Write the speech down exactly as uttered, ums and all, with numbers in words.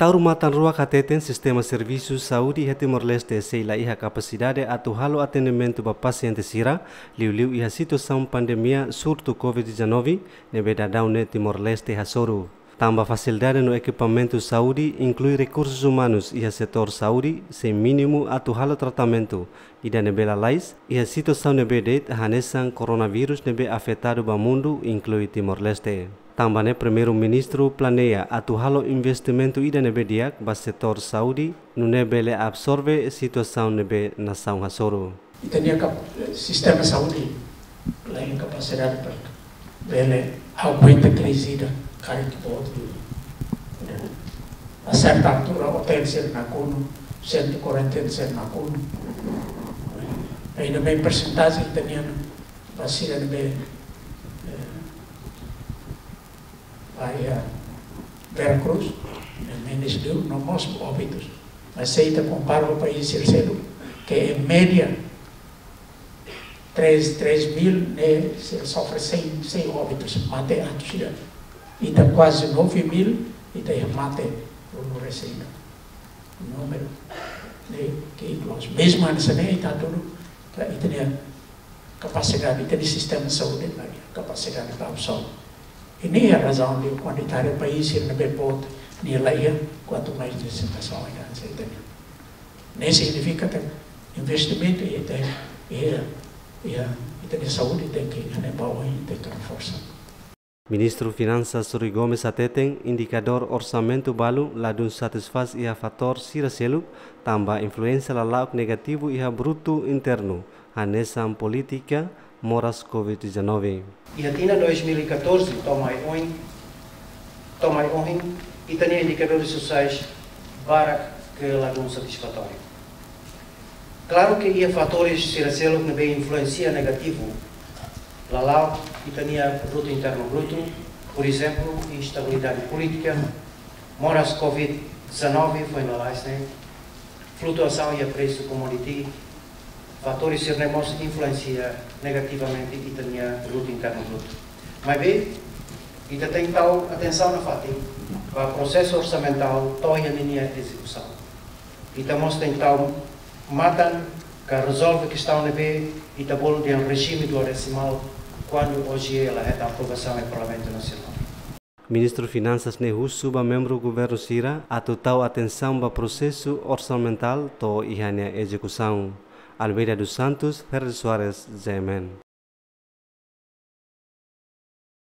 Taur matan-ruak hateten sistema servisu saúde iha Timor-Leste sei la iha kapasidade atu halo atendimentu ba pasiente sira, liuliu iha situasaun pandemia surtu covid dezanove ne'ebé daudaun ne'e Timor-Leste hasoru. Tanba fasilidade no ekipamentu saúde, inklui rekursus umanus iha setór saúde, sei mínimu atu halo tratamentu, ida ne'ebé lalais iha situasaun ne'ebé de'it hanesan koronavírus ne'ebé afetadu ba mundu, inklui Timor-Leste. Tanba ne'e Primeiru-Ministru planeia atu halo investimentu ida ne'ebé di'ak ba setór saúde, nune'e bele absorve situasaun ne'ebé nasaun hasoru. Ita-nia kap-, sistema saúde la iha kapasidade para bele aguenta krize ida, karik boot, eh, a serta altura otél sira nakonu, sentru kuarentena sira nakonu. Ainda bem persentajen ita-nian ba sira ne'ebé, eh, ba iha Vera Cruz, eh, menus liu, no mós óbitus. Mas se ita kompara ho país sira seluk, ke em média três, três mil, ne'e, sei sofre cem, cem óbitus, mate atus ida. Ita kuaze nove mil, ita iha mate ruanulu resin ida. Númeru, ne'e, ke inkluzu. Mezmu hanesan ne'e, ita hatudu, ka ita-nia kapasidade, ita-nia sistema saúde la iha kapasidade para absorve. I ne'e iha razaun liu kuandu ita haree país sira ne'ebé boot nia la iha, kuantu mais de situasaun ida hanesan ita-nian. Ne'e signifika katak investimentu iha ita, iha, iha ita-nia saúde tenke, ne'e ba oin tenke reforsa. Ministru Finansas Rui Gomes hateten indikadór orsamentu balu ladún satisfás iha fatór sira seluk, tanba influénsia lala'ok negativu iha brutu internu, hanesan polítika, moras covid dezanove. Iha tinan dois mil e catorze to'o mai oin, to'o mai ohin, ita-nia indikadores sosiais barak ke ladún satisfatóriu. Klaru ke iha fatór sira seluk ne'ebé influénsia negativu lala'ok ita-nia brutu internu brutu, por ezemplu, instabilidade polítika, moras covid dezanove foin lalais ne'e, flutuasaun iha presu commodity, fatór sira-ne'e mós influénsia negativamente ita-nia brutu internu brutu. Maibé, ita tenke tau atensaun nafatin ba prosesu orsamentál to'o iha ninia ezekusaun. Ita mós tenke tau matan ka rezolve kestaun ne'ebé ita bolu dehan rejime duodesimál, kuandu OJE la hetan aprovasaun iha Parlamentu Nasionál. Ministru Finansas ne'e husu ba membru governu sira atu tau atensaun ba prosesu orsamentál to'o iha nia ezekusaun. Almeida dos Santos, Fernando Soares, Z M N.